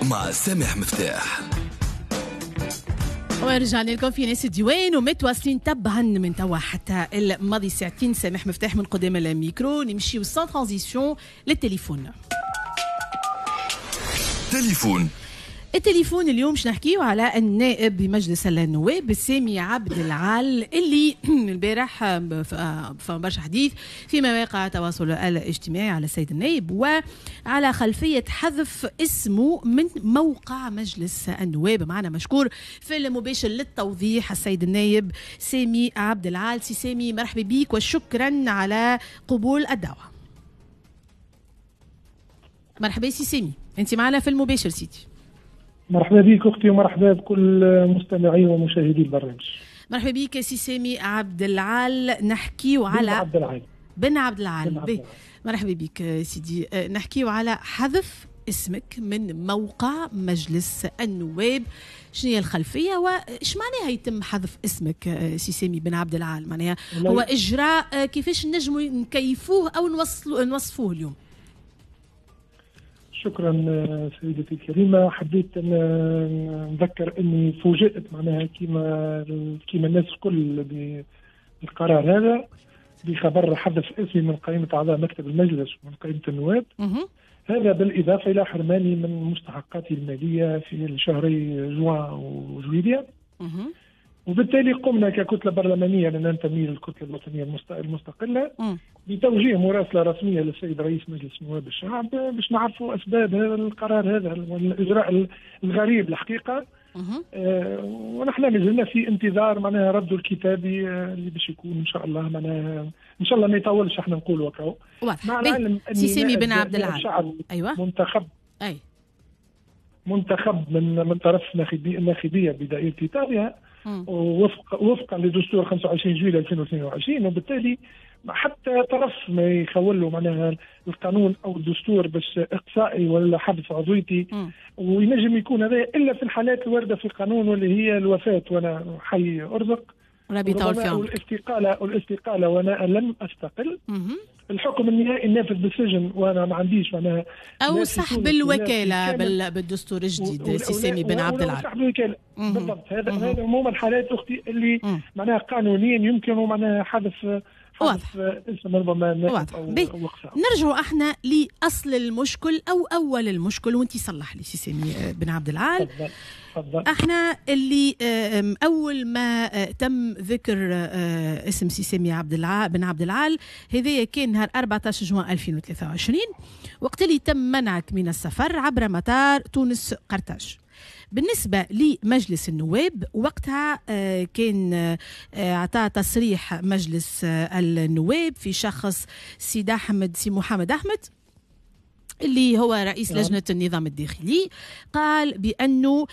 مع سامح مفتاح. ورجعنا لكم في ناس الديوان ومتواصلين طبعا من توا حتى الماضي ساعتين. سامح مفتاح من قدام الميكرو، نمشيو sans transition للتليفون. تليفون التليفون اليوم باش نحكيو على النائب بمجلس النواب سامي عبد العال اللي البارح فما برشا حديث في مواقع التواصل الاجتماعي على السيد النائب وعلى خلفية حذف اسمه من موقع مجلس النواب. معنا مشكور في المباشر للتوضيح السيد النائب سامي عبد العال. سي سامي مرحبا بك وشكرا على قبول الدعوة. مرحبا سي سامي، انت معنا في المباشر سيدي. مرحبا بك اختي ومرحبا بكل مستمعي ومشاهدي البرنامج. مرحبا بك سي سامي عبد العال. نحكيو على عبد العال بن عبد العال. مرحبا بك سيدي. نحكيو على حذف اسمك من موقع مجلس النواب، شنو هي الخلفية واش معناها يتم حذف اسمك سي سامي بن عبد العال؟ معناها هو اجراء كيفاش نجموا نكيفوه او نوصفوه اليوم؟ شكرا سيدتي الكريمة. حبيت أن نذكر أني فوجئت معناها كيما الناس الكل بالقرار هذا، بخبر حذف اسمي من قائمة أعضاء مكتب المجلس ومن قائمة النواب. هذا بالإضافة إلى حرماني من مستحقاتي المالية في الشهري جوان وجويليا. وبالتالي قمنا ككتلة برلمانية، لأن ننتمي للكتلة الوطنية المستقلة، بتوجيه مراسلة رسمية للسيد رئيس مجلس نواب الشعب باش نعرفوا أسباب هذا القرار هذا والإجراء الغريب الحقيقة. ونحن مازلنا في انتظار معناها رده الكتابي اللي باش يكون إن شاء الله، معناها إن شاء الله ما يطولش، احنا نقولوا وكاو. مع العلم أن سي سامي بن عبد العال أيوة منتخب، أي منتخب من طرف الناخبية بدائرة إيطاليا وفقا لدستور 25 جويلية 2022، وبالتالي حتى طرف ما يخول له معناها القانون او الدستور باش اقصائي ولا حذف عضويتي، وينجم يكون هذا الا في الحالات الواردة في القانون واللي هي الوفاة وانا حي ارزق، ربي يطول في عمرك، والاستقاله وانا لم استقل، الحكم النهائي النافذ بالسجن وانا ما عنديش معناها، او سحب الوكالة بالدستور الجديد. سي سامي بن عبد العال سحب الوكالة بالضبط. هذا عموما الحالات اختي اللي معناها قانونيا يمكن معناها حذف واضح اسم ربما. واضح. نرجع احنا لاصل المشكل او اول المشكل، وانت صلح لي سي سامي بن عبد العال. تفضل. احنا اللي اول ما تم ذكر اسم سي سامي عبد العال بن عبد العال هذايا كان نهار 14 جوان 2023 وقت اللي تم منعك من السفر عبر مطار تونس قرطاج. بالنسبة لمجلس النواب وقتها كان أعطى تصريح مجلس النواب في شخص سيد أحمد سي محمد أحمد اللي هو رئيس لجنة النظام الداخلي، قال بأنه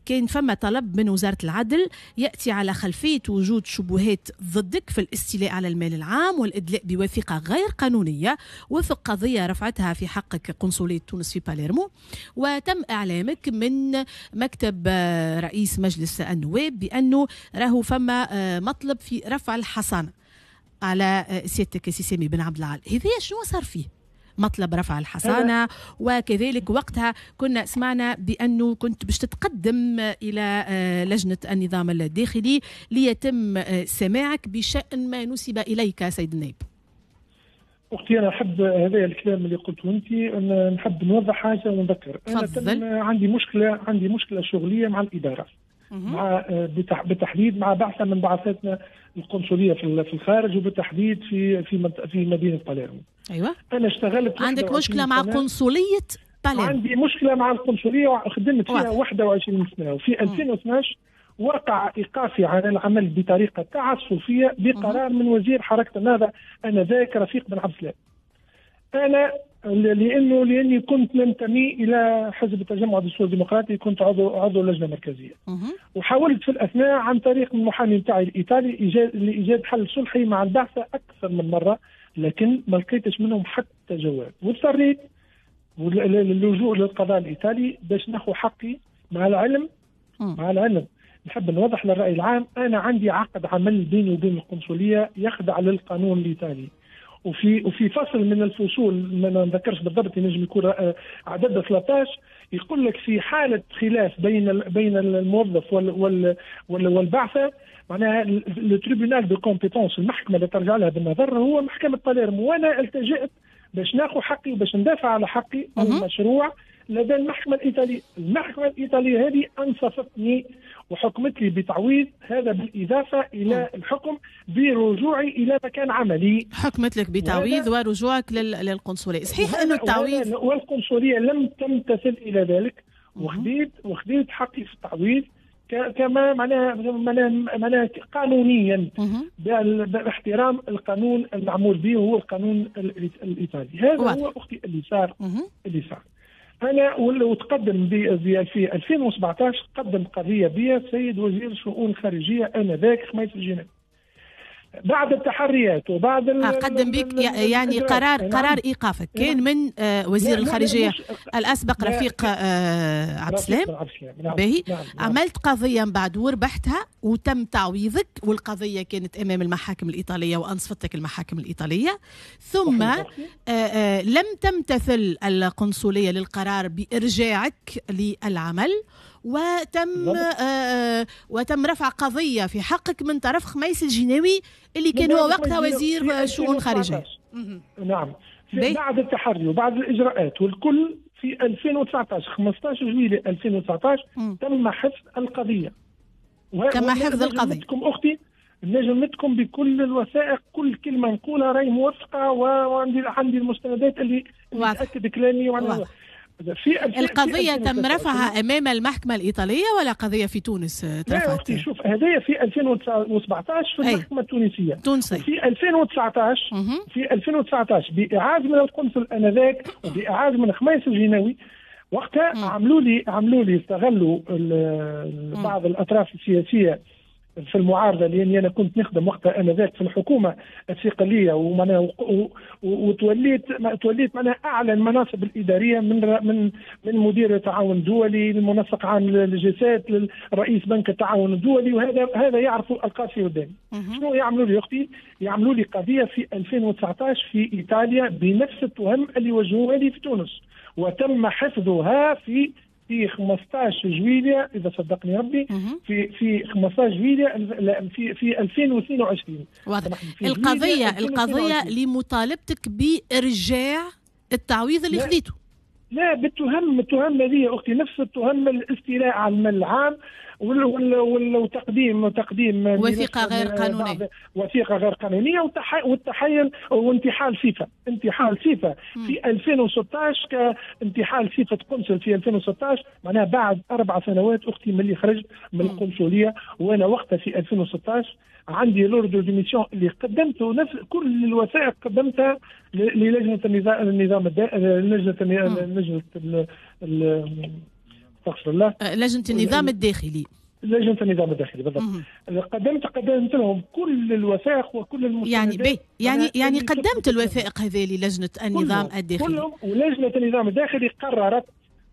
كان فما طلب من وزارة العدل يأتي على خلفية وجود شبهات ضدك في الاستيلاء على المال العام والإدلاء بوثيقة غير قانونية وفق قضية رفعتها في حقك قنصلية تونس في باليرمو، وتم إعلامك من مكتب رئيس مجلس النواب بأنه راهو فما مطلب في رفع الحصانة على سيادتك سي سامي بن عبد العال. هذا شنو صار فيه مطلب رفع الحصانة؟ وكذلك وقتها كنا سمعنا بأنه كنت باش تتقدم إلى لجنة النظام الداخلي ليتم سماعك بشأن ما نسب إليك سيد النائب. أختي أنا أحب هذا الكلام اللي قلته أنت، أنا نحب نوضح حاجة ونذكر. أنا عندي مشكلة شغلية مع الإدارة، مع بالتحديد مع بعثة من بعثاتنا القنصلية في الخارج، وبالتحديد في في في مدينة باليرمو. أيوة. أنا اشتغلت. عندك مشكلة مع قنصلية باليرمو؟ عندي مشكلة مع القنصلية وخدمت فيها 21 سنة، وفي 2012 وقع إيقافي عن العمل بطريقة تعسفية بقرار من وزير حركة النهضة آنذاك رفيق بن عبد السلام. أنا لأني كنت ننتمي إلى حزب التجمع الدستوري الديمقراطي، كنت عضو لجنة مركزية، وحاولت في الأثناء عن طريق المحامي نتاعي الإيطالي لإيجاد حل صلحي مع البعثة أكثر من مرة، لكن ما لقيتش منهم حتى جواب، واضطريت للجوء للقضاء الإيطالي باش ناخذ حقي. مع العلم نحب نوضح للرأي العام، أنا عندي عقد عمل بيني وبين القنصلية يخضع للقانون الإيطالي، وفي فصل من الفصول ما نذكرش بالضبط، ينجم يكون عدد 13، يقول لك في حاله خلاف بين الموظف والبعثه، معناها le tribunal de compétence، المحكمة اللي ترجع لها بالنظر هو محكمة باليرمو. وانا التجأت باش ناخذ حقي وباش ندافع على حقي المشروع لدى المحكمة الايطالية. المحكمة الايطالية هذه انصفتني وحكمت لي بتعويض هذا، بالاضافة الى الحكم برجوعي الى مكان عملي. حكمت لك بتعويض ورجوعك للقنصليه. صحيح انه التعويض والقنصليه لم تمتثل الى ذلك، وخديت حقي في التعويض كما معناها قانونيا باحترام القانون المعمول به هو القانون الايطالي. هذا هو اختي اللي صار. اللي صار انا وتقدم في 2017 قدم قضية بي السيد وزير الشؤون الخارجية انذاك خميس الجناب، بعد التحريات وبعد قدم بك يعني قرار ايقافك كان من وزير الخارجية الاسبق رفيق عبد السلام. باهي. عملت قضية من بعد وربحتها وتم تعويضك، والقضية كانت امام المحاكم الايطالية وانصفتك المحاكم الايطالية، ثم لم تمتثل القنصليه للقرار بارجاعك للعمل، وتم رفع قضية في حقك من طرف خميس الجناوي اللي كان هو وقتها وزير شؤون خارجية. نعم. بعد التحري وبعد الإجراءات والكل في 2019 15 جويلية 2019 تم حفظ القضية. تم حفظ القضية. أختي نجمتكم بكل الوثائق، كل كلمة نقولها راهي موثقة، وعندي المستندات اللي تأكد كلامي. في القضية تم رفعها أمام المحكمة الإيطالية ولا قضية في تونس ترفعت؟ لا أختي، شوف هذايا في 2017 في المحكمة التونسية. في 2019 في 2019 بإعاز من القنصل آنذاك وبإعاز من خميس الجناوي وقتها عملوا لي استغلوا بعض الأطراف السياسية في المعارضة، لاني انا كنت نخدم وقتها انذاك في الحكومة الثقليه، ومعناها وتوليت معناها اعلى المناصب الادارية من من مدير التعاون الدولي للمنسق عام للجسات للرئيس بنك التعاون الدولي، وهذا يعرفوا القاسي والداني. شنو يعملوا لي اختي؟ يعملوا لي قضية في 2019 في ايطاليا بنفس التهم اللي وجهوها لي في تونس، وتم حفظها في 15 جويلية اذا صدقني ربي، في 15 جويلية في 2022. واضح. القضية لمطالبتك بارجاع التعويض اللي خذيته. لا، بالتهم، التهم هذه اختي نفس التهم، الاستيلاء على المال العام وتقديم وثيقة غير قانونية، وثيقة غير قانونية، والتحيل وانتحال صفة، انتحال صفة في 2016 كانتحال صفة قنصل في 2016، معناها بعد 4 سنوات اختي من اللي خرجت من القنصليه، وانا وقتها في 2016 عندي l'ordre de mission اللي قدمته، نفس كل الوثائق قدمتها للجنة النظام لجنة استغفر الله، لجنة النظام الداخلي، لجنة النظام الداخلي بالضبط. قدمت لهم كل الوثائق وكل المستندات. يعني قدمت الوثائق هذه للجنة النظام الداخلي كلهم، ولجنه النظام الداخلي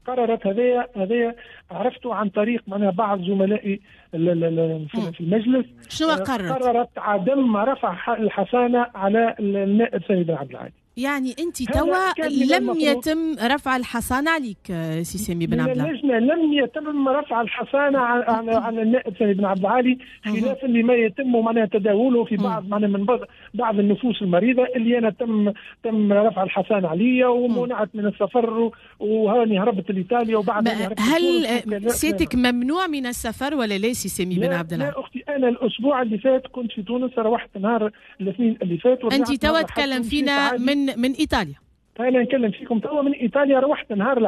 قررت هذايا عرفته عن طريق معناها بعض زملائي في المجلس. شنو قررت؟ قررت عدم رفع الحصانة على النائب سامي بن عبد العالي. يعني انت توا لم يتم رفع الحصانة عليك سي سامي بن عبد العالي؟ اللجنة لم يتم رفع الحصانة على النائب سامي بن عبد العالي، خلافا لما يتم معناها تداوله في بعض معناها من بعض النفوس المريضة اللي انا تم رفع الحصانة عليا ومنعت من السفر وهاني هربت لايطاليا وبعد. هل سيتك ممنوع من السفر ولا لا سي سامي بن عبد العالي؟ لا اختي، انا الاسبوع اللي فات كنت في تونس، روحت نهار الاثنين اللي فات. انت توا تكلم فينا من ايطاليا؟ انا نكلم فيكم توا من ايطاليا، روحت نهار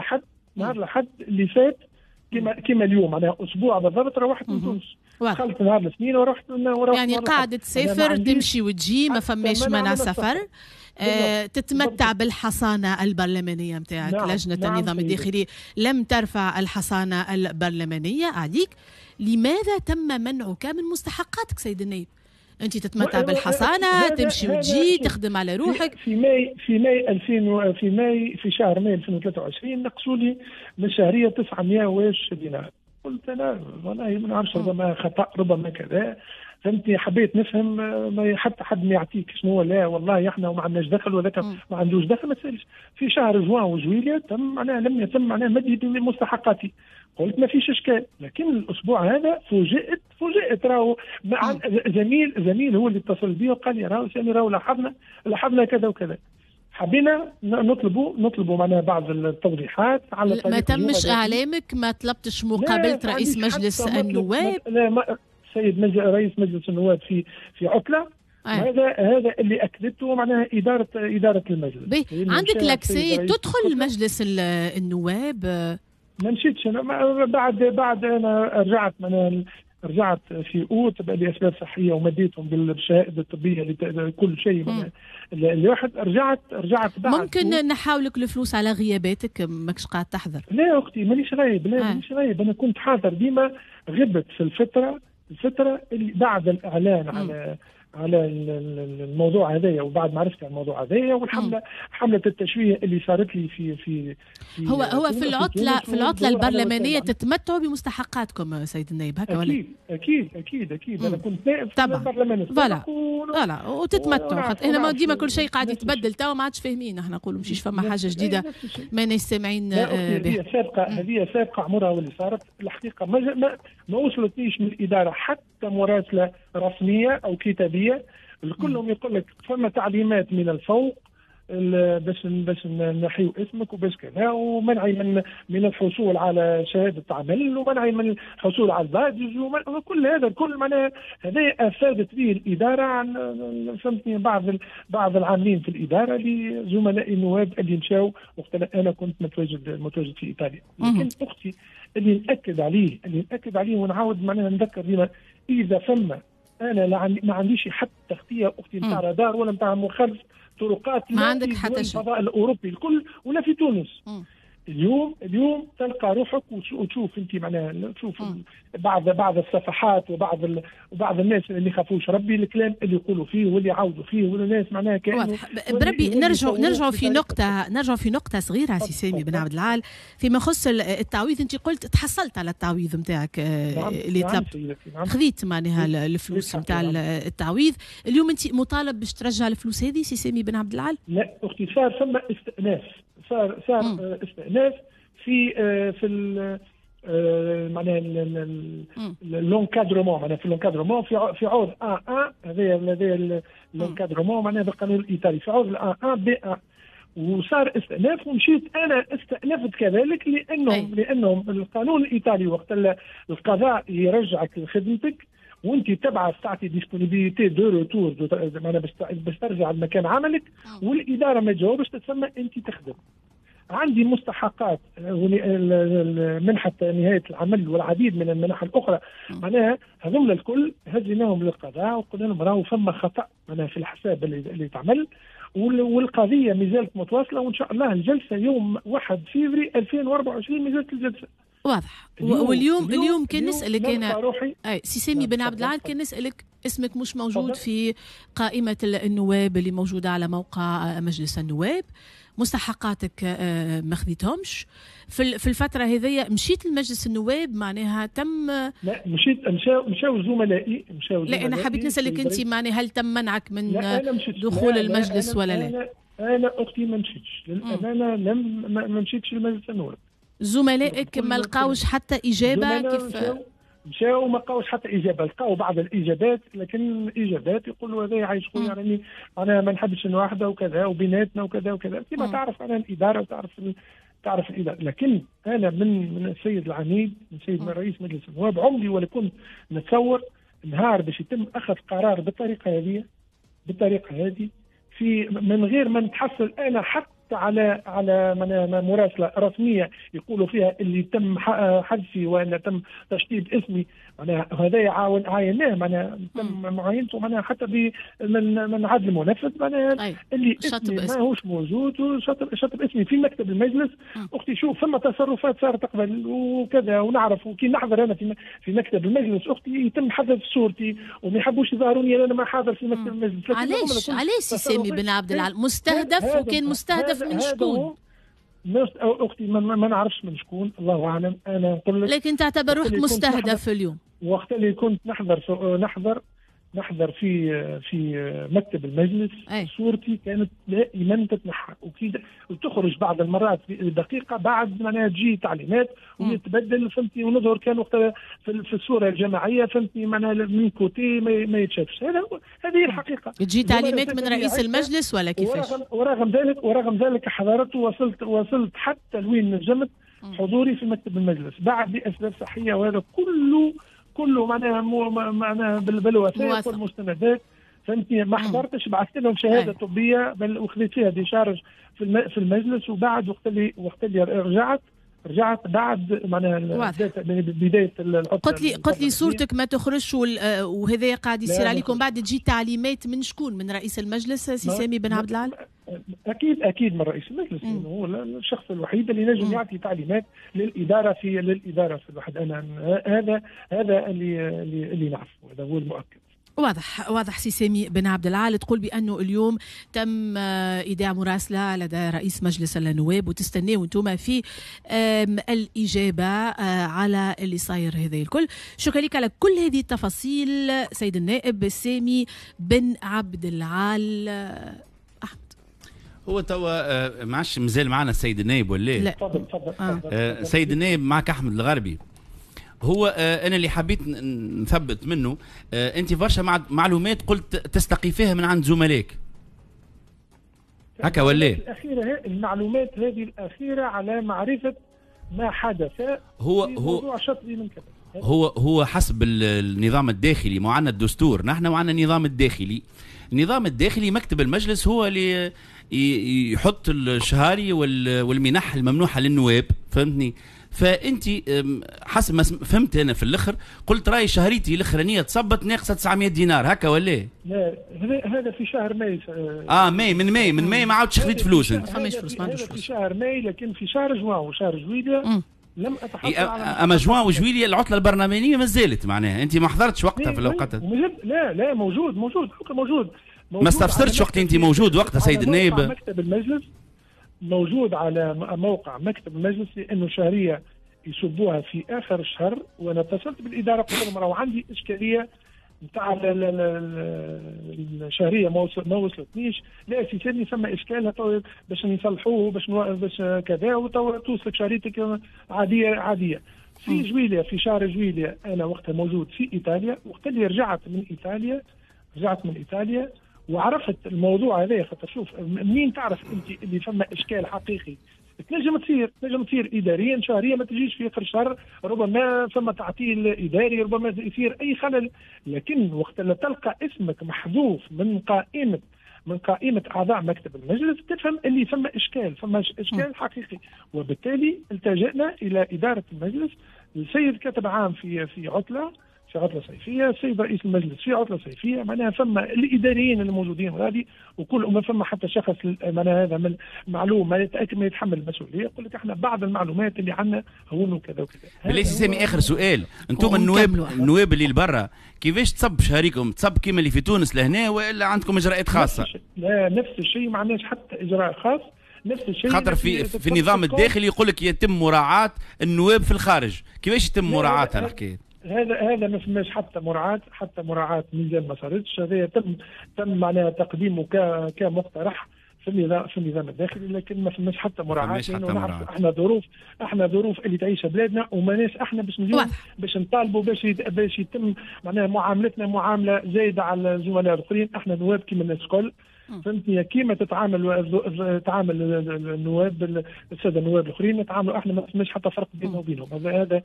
الاحد اللي فات كما اليوم، معناها اسبوع بالضبط روحت من تونس. دخلت نهار الاثنين ورحت يعني قاعدة تسافر تمشي وتجي، ما فماش منع سفر. تتمتع بالحصانة البرلمانية نتاعك. نعم. لجنة النظام الداخلي لم ترفع الحصانة البرلمانية عليك. لماذا تم منعك من مستحقاتك سيد النائب؟ انت تتمتع بالحصانه، تمشي وتجي، تخدم على روحك. في ماي في شهر ماي 2023 نقصوا لي من الشهرية 900 دينار. قلت انا والله ما نعرفش، ربما خطا ربما كذا، فهمتني. حبيت نفهم، ما حتى حد ما يعطيك شنو. لا والله احنا وما عندناش دخل وذاك ما عندوش دخل، ما تسالش. في شهر جوان وجويليا تم معناها لم يتم معناها مدي بمستحقاتي. قلت ما فيش اشكال، لكن الاسبوع هذا فوجئت راهو زميل هو اللي اتصل بي وقال لي راهو سامي راهو لاحظنا كذا وكذا. حبينا نطلبوا معناها بعض التوضيحات على ما تمش اعلامك، ما طلبتش مقابله رئيس مجلس النواب؟ لا، سيد رئيس مجلس النواب في عطله. هذا اللي اكدته معناها ادارة المجلس. عندك l'accès تدخل مجلس النواب؟ ما مشيتش انا بعد انا رجعت معناها رجعت في اوت لاسباب صحية ومديتهم بالشهادة الطبية كل شيء الواحد. رجعت بعد. ممكن نحاولك الفلوس على غياباتك، ماكش قاعد تحضر؟ لا اختي مانيش غايب، لا مانيش غايب، انا كنت حاضر ديما. غبت في الفترة اللي بعد الاعلان على الموضوع هذايا، وبعد ما عرفت على الموضوع هذايا والحمله حمله التشويه اللي صارت لي في في, في هو في العطلة البرلمانية تتمتعوا بمستحقاتكم سيد النائب هكا ولا؟ اكيد اكيد اكيد. انا كنت نائب في البرلمان voilà وتتمتعوا، خاطر احنا ديما كل شيء قاعد يتبدل توا ما عادش فاهمين، احنا نقولوا مشيش فما حاجة جديدة ما سامعين بها. هذه سابقه عمرها واللي صارت الحقيقة ما وصلتنيش من الادارة حتى مراسله رسمية او كتابيه. كلهم يقول لك فما تعليمات من الفوق باش نحيو اسمك وباش كذا، ومنعي من الحصول على شهادة عمل، ومنعي من الحصول على ال badge، وكل هذا الكل معناها هذا افادت به الادارة عن فهمتني بعض العاملين في الادارة لزملائي النواب اللي مشاو وقت انا كنت متواجد في ايطاليا. لكن اختي اللي ناكد عليه ونعاود معناها نذكر ديما، اذا فما انا ما عنديش حتى تغطيه اختي نتاع رادار ولا نتاع مخالف طرقات، ما عندك حتى شيء الفضاء الاوروبي الكل ولا في تونس. اليوم تلقى روحك وتشوف انت معناها تشوف بعض الصفحات وبعض الناس اللي يخافوش ربي الكلام اللي يقولوا فيه واللي يعاودوا فيه، والناس معناها كانوا بربي. نرجعوا في نقطة صغيرة سي سامي بن عبد العال فيما يخص التعويض. انت قلت تحصلت على التعويض نتاعك اللي طلبت، خذيت معناها الفلوس نتاع التعويض. اليوم انت مطالب باش ترجع الفلوس هذه سي سامي بن عبد العال؟ لا اختي، صار ثم استئناف، صار استئناف في معناها l'encadrement، معناها في l'encadrement في عوض 1 هذا l'encadrement معناها بالقانون الايطالي في عوض 1 B 1، وصار استئناف ومشيت انا استأنفت كذلك لانهم القانون الايطالي وقت القضاء يرجعك لخدمتك وانت تبعث تعطي disponibilité de retour معناها باش ترجع لمكان عملك، والادارة ما تجاوبش تسمى انت تخدم. عندي مستحقات منحة نهاية العمل والعديد من المنح الأخرى، معناها هذول الكل هزيناهم للقضاء وقلنا لهم راهو فما خطأ معناها في الحساب اللي تعمل، والقضية مازالت متواصلة، وإن شاء الله الجلسة يوم 1 فيفري 2024 مازالت الجلسة. واضح. واليوم كان نسألك أنا سي سامي بن عبد العال، كان نسألك اسمك مش موجود في قائمة النواب اللي موجودة على موقع مجلس النواب، مستحقاتك ما خذيتهمش في الفترة هذيا، مشيت لمجلس النواب معناها تم؟ لا مشيت، مشاو زملائي. لا أنا حبيت نسألك أنت معناها هل تم منعك من دخول المجلس ولا لا؟ أنا أختي ما مشيتش للأمانة، ما مشيتش لمجلس النواب. زملائك ما لقاوش حتى إجابة؟ كيف مشاو ما لقاوش حتى إجابة، لقاو بعض الإجابات، لكن الإجابات يقولوا هذا عايش خويا يعني أنا ما نحبش واحدة وكذا وبيناتنا وكذا وكذا، كما تعرف أنا الإدارة وتعرف تعرف الإدارة. لكن أنا من السيد العميد، من سيد رئيس مجلس النواب، عمري ولا كنت نتصور نهار باش يتم أخذ قرار بالطريقة هذه في من غير ما نتحصل أنا حتى على مراسله رسمية يقولوا فيها اللي تم حذفي وان تم تشطيب اسمي، معناها هذا عايناه معناها تم معاينته معناها حتى من عدل منفذ معناها اللي اسمي ماهوش موجود وشطب اسمي في مكتب المجلس. اختي شوف ثم تصرفات صارت قبل وكذا ونعرف، وكي نحضر انا في مكتب المجلس اختي يتم حذف صورتي وما يحبوش يظهروني انا ما حاضر في مكتب المجلس. علاش سي سامي بن عبد العال مستهدف؟ وكان مستهدف من شكون؟ اختي ما نعرفش من شكون، الله اعلم. انا نقول لك لكن تعتبر روحك مستهدف اليوم. وقت اللي كنت نحضر في مكتب المجلس. أي. صورتي كانت دائما تتنحى وتخرج بعض المرات دقيقة بعد معناها تجي تعليمات ويتبدل، فهمتني، ونظهر كان وقتها في الصورة الجماعية، فهمتني، معناها من côté ما يتشافش. هذه الحقيقة. تجي تعليمات من رئيس المجلس ولا كيفاش؟ ورغم ذلك حضرت ووصلت حتى لوين نجمت حضوري في مكتب المجلس بعد لاسباب صحية، وهذا كله معناها بالوثائق والمستندات، فهمتني. ما حضرتش، بعثت لهم شهادة طبية بل وخذيت فيها décharge في المجلس، وبعد وقت اللي رجعت بعد معناها بداية العطلة. قلت لي صورتك ما تخرجش وهذا قاعد يصير عليكم. بعد تجي تعليمات من شكون؟ من رئيس المجلس سي سامي بن عبد العال؟ اكيد من رئيس المجلس، لانه هو الشخص الوحيد اللي نجم يعطي تعليمات للادارة في الواحد. انا هذا اللي نعرفه، هذا هو المؤكد. واضح سي سامي بن عبد العال. تقول بأنه اليوم تم إيداع مراسلة لدى رئيس مجلس النواب وتستناو انتم في الإجابة على اللي صاير هذا الكل. شكرا لك على كل هذه التفاصيل سيد النائب سامي بن عبد العال. أحمد، هو توا ما عادش مازال معنا السيد النائب ولا لا؟ تفضل. سيد النائب معك أحمد الغربي. هو انا اللي حبيت نثبت منه، انت برشا معلومات قلت تستقي فيها من عند زملائك هكا ولا؟ الاخيرة المعلومات هذه الاخيرة على معرفة ما حدث هو في موضوع شطبي من كذا. هو حسب النظام الداخلي، ما عندنا الدستور نحن وعندنا النظام الداخلي. النظام الداخلي مكتب المجلس هو اللي يحط الشهاري والمنح الممنوحه للنواب، فهمتني؟ فانت حسب ما فهمت انا في الاخر قلت راي شهريتي الاخرانية تصبت ناقصه 900 دينار هكا ولا؟ لا، هذا في شهر ماي. ماي، من ماي ما عاودش خذيت فلوس انت. فماش فلوس، ما عندوش فلوس في شهر ماي، لكن في شهر جوان وشهر جويلية لم اتحصل على. اما جوان وجويلية العطلة البرلمانية ما زالت، معناها انت ما حضرتش وقتها في الاوقات. لا موجود موجود موجود. ما استفسرتش وقت انت موجود وقتها سيد النائب؟ مكتب المجلس موجود على موقع مكتب المجلس، لانه شهرية يصبوها في اخر الشهر، وانا اتصلت بالادارة قلت لهم راهو عندي اشكالية نتاع الشهرية ما وصلتنيش. لا سي سامي ثم اشكال باش نصلحوه باش كذا وتوصلك شهريتك عادية. في جويليا، في شهر جويليا انا وقتها موجود في ايطاليا. وقت اللي رجعت من ايطاليا وعرفت الموضوع هذا، خاطر شوف منين تعرف انت اللي فما اشكال حقيقي. تنجم تصير اداريا شهرية ما تجيش في اخر الشهر، ربما ثم تعطيل اداري، ربما يصير اي خلل، لكن وقت اللي تلقى اسمك محذوف من قائمة اعضاء مكتب المجلس تفهم اللي ثم اشكال، ثم اشكال حقيقي. وبالتالي التجأنا الى ادارة المجلس، السيد كاتب عام في عطله صيفية، السيد رئيس المجلس في عطله صيفية، معناها ثم الاداريين الموجودين غادي وكل ما ثم حتى شخص معناها هذا من معلوم ما يتاكد ما يتحمل المسؤولية، يقول لك احنا بعض المعلومات اللي عندنا هو وكذا وكذا. بالله سي سامي اخر سؤال، انتم النواب اللي لبرا كيفاش تصب شهريكم؟ تصب كيما اللي في تونس لهنا والا عندكم اجراءات خاصة؟ لا، نفس الشيء، ما عندناش حتى اجراء خاص، نفس الشيء. خاطر في النظام الداخلي يقول لك يتم مراعاة النواب في الخارج، كيفاش يتم مراعاتها الحكاية؟ هذا ما فماش حتى مراعاة، مازال ما صارتش. هذا تم معناها تقديمه كمقترح في النظام الداخلي، لكن ما فماش حتى مراعاة، لانه نعرف احنا ظروف اللي تعيشها بلادنا، وماناش احنا باش نجيو باش نطالبوا باش يتم معناها معاملتنا معاملة زايدة على الزملاء الاخرين. احنا نواب كيما الناس الكل، فهمتني؟ كيما تتعامل النواب السادة النواب الاخرين نتعاملوا احنا، ما فماش حتى فرق بيننا وبينهم. هذا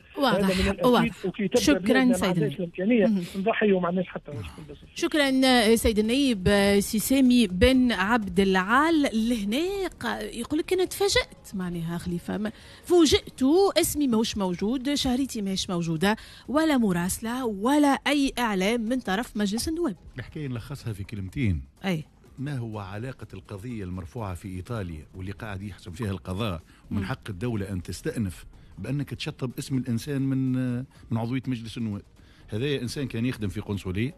واضح. شكرا سيد الامكانية نضحي وما عندناش حتى مشكل. شكرا سيد النائب سي سامي بن عبد العال. لهنا يقول لك انا تفاجات، معناها خليفة فوجئت، اسمي ماهوش موجود، شهريتي ماهيش موجودة، ولا مراسله ولا اي اعلام من طرف مجلس النواب. الحكاية نلخصها في كلمتين. اي ما هو علاقة القضية المرفوعة في إيطاليا واللي قاعد يحسم فيها القضاء، ومن حق الدولة أن تستأنف بأنك تشطب اسم الإنسان من عضوية مجلس النواب؟ هذا إنسان كان يخدم في قنصلية،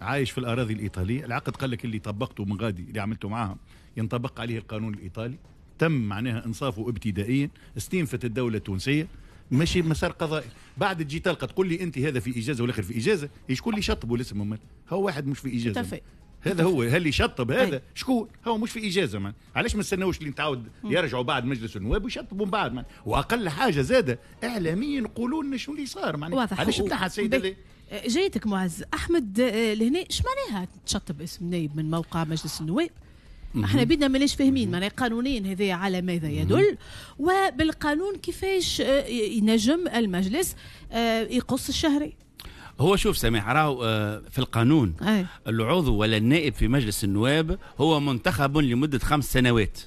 عايش في الأراضي الإيطالية، العقد قال لك اللي طبقته من غادي اللي عملته معاهم ينطبق عليه القانون الإيطالي. تم معناها انصافه ابتدائيا، استنفت الدولة التونسية، ماشي مسار قضائي. بعد تجي تلقى تقول لي انت هذا في اجازه والاخر في اجازه، شكون اللي شطبوا الاسم؟ هو واحد مش في اجازه. هذا هو، هل يشطب هذا؟ شكون هو مش في اجازه؟ man. علاش ما استناوش اللي نتعاود يرجعوا بعد مجلس النواب ويشطبوا من بعد؟ man. واقل حاجة زاده اعلاميا يقولوا لنا شنو اللي صار معناها، علاش تنحى السيد هذا؟ جايتك معز احمد لهنا، اش معناها تشطب اسم نايب من موقع مجلس النواب؟ احنا بيدنا ماناش فاهمين معناها قانونيا هذا على ماذا يدل، وبالقانون كيفاش ينجم المجلس يقص الشهري؟ هو شوف سامح، راهو في القانون العضو ولا النائب في مجلس النواب هو منتخب لمدة 5 سنوات،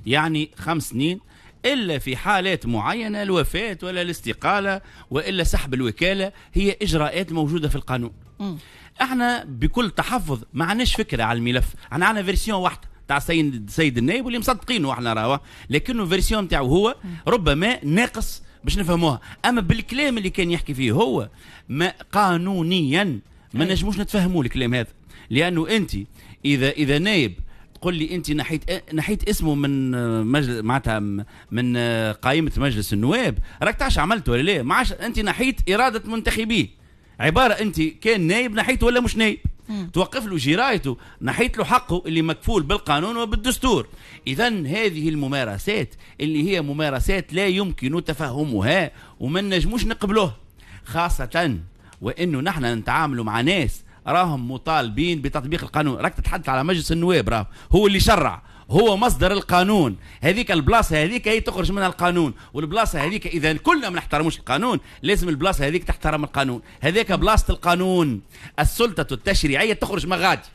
يعني 5 سنين، إلا في حالات معينة، الوفاة ولا الاستقالة وإلا سحب الوكالة، هي إجراءات موجودة في القانون. احنا بكل تحفظ ما عندناش فكرة على الملف، احنا عندنا version واحدة تاع السيد النائب واللي مصدقينه احنا راهو، لكنه version تاعو هو ربما ناقص باش نفهموها، اما بالكلام اللي كان يحكي فيه هو ما قانونيا ما نجموش نتفهموا الكلام هذا، لانه انت اذا نايب تقول لي انت نحيت اسمه من مجلس، معناتها من قائمة مجلس النواب، راك تعرف عملت ولا لا؟ ما عادش انت نحيت اراده منتخبيه، عبارة انت كان نايب نحيته ولا مش نايب، توقف له جرايته، نحيت له حقه اللي مكفول بالقانون وبالدستور. اذا هذه الممارسات اللي هي ممارسات لا يمكن تفهمها وما نجموش نقبلوها، خاصة وانه نحن نتعاملوا مع ناس راهم مطالبين بتطبيق القانون. راك تتحدث على مجلس النواب، راه هو اللي شرع، هو مصدر القانون، هذيك البلاصة هذيك هي تخرج منها القانون، والبلاصه هذيك اذا كلنا ما نحترموش القانون لازم البلاصة هذيك تحترم القانون، هذيك بلاصة القانون. السلطة التشريعية تخرج مغادي،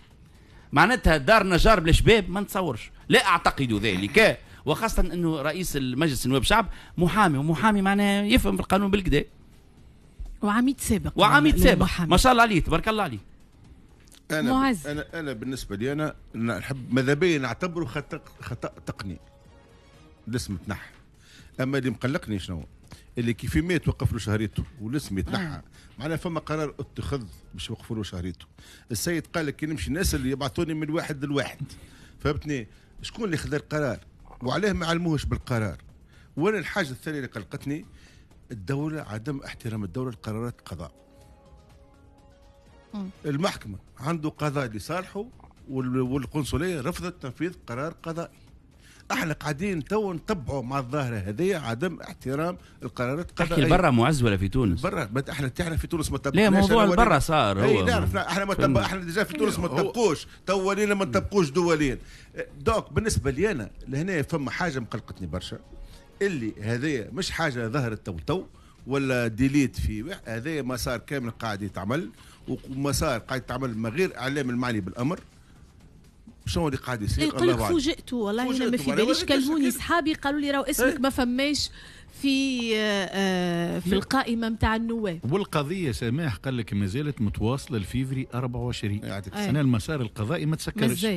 معناتها دار نجار بلا شباب ما نتصورش، لا اعتقد ذلك، وخاصة انه رئيس المجلس النواب شعب محامي، ومحامي معناها يفهم في القانون بالكدا، وعميد سابق، وعميد سابق ما شاء الله عليه تبارك الله عليه. انا انا انا بالنسبة لي انا نحب ماذا بيا نعتبره خطا تقني الاسم تنحى، اما اللي مقلقني شنو؟ اللي كيف ما توقف له شهريته والاسم يتنحى، معناها فما قرار اتخذ باش يوقفوا له شهريته. السيد قال لك كي نمشي الناس اللي يبعثوني من واحد لواحد، فهمتني؟ شكون اللي خذا القرار؟ وعلاه ما علموهش بالقرار؟ وانا الحاجة الثانية اللي قلقتني الدولة، عدم احترام الدولة لقرارات القضاء. المحكمة عنده قضاء لصالحه والقنصلية رفضت تنفيذ قرار قضائي. احنا قاعدين تو نتبعوا مع الظاهرة هذه عدم احترام القرارات القضائية. تحكي برا معز ولا في تونس؟ برا، احنا تعرف في تونس ما طبقناش. لا موضوع البرا صار هو. اي نعرف، احنا ما طبق، احنا déjà في تونس ما طبقوش، تو ولينا ما نطبقوش دوليا. donc بالنسبة لي انا لهنا فما حاجة مقلقتني برشا، اللي هذه مش حاجة ظهرت تو ولا delete في هذا مسار كامل قاعد يتعمل، ومسار قاعد يتعمل من غير اعلام المعني بالامر. شنو اللي قاعد يصير؟ يقول لك فوجئت، والله انا ما في باليش، كلموني صحابي قالوا لي راهو اسمك ما فماش في في القائمة نتاع النواب. والقضية سماح قال لك ما زالت متواصلة لفيفري 24 سنة، المسار القضائي ما تسكرش.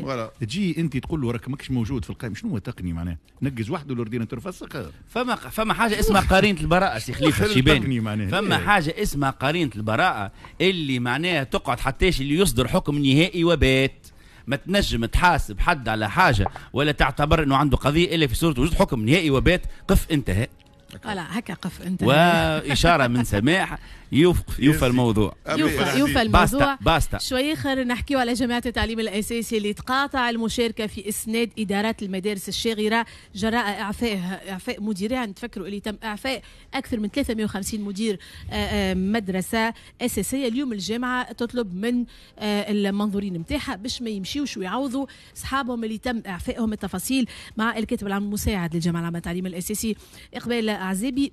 تجي انت تقول له راك ماكش موجود في القائمة، شنو هو تقني معناه؟ نقز وحده ال ordinateur فسخ. فما حاجة اسمها قرينه البراءة سي خليفة الشيباني، فما حاجة اسمها قرينه البراءة اللي معناها تقعد حتىش اللي يصدر حكم نهائي وبات. ما تنجم تحاسب حد على حاجة ولا تعتبر انه عنده قضية الا في صوره وجود حكم نهائي وبات. قف انتهى. لا هكا قف انتهى. واشاره من سماح يوفى الموضوع. يوفى الموضوع. basta. شوي اخر نحكيو على جامعه التعليم الاساسي اللي تقاطع المشاركة في اسناد ادارات المدارس الشاغره جراء اعفاء مديرها. نتفكروا اللي تم اعفاء اكثر من 350 مدير مدرسه اساسية. اليوم الجامعة تطلب من المنظورين نتاعها باش ما يمشيوش ويعوضوا اصحابهم اللي تم اعفائهم. التفاصيل مع الكاتب العام المساعد للجامعة العامة للتعليم الاساسي اقبال عزابي.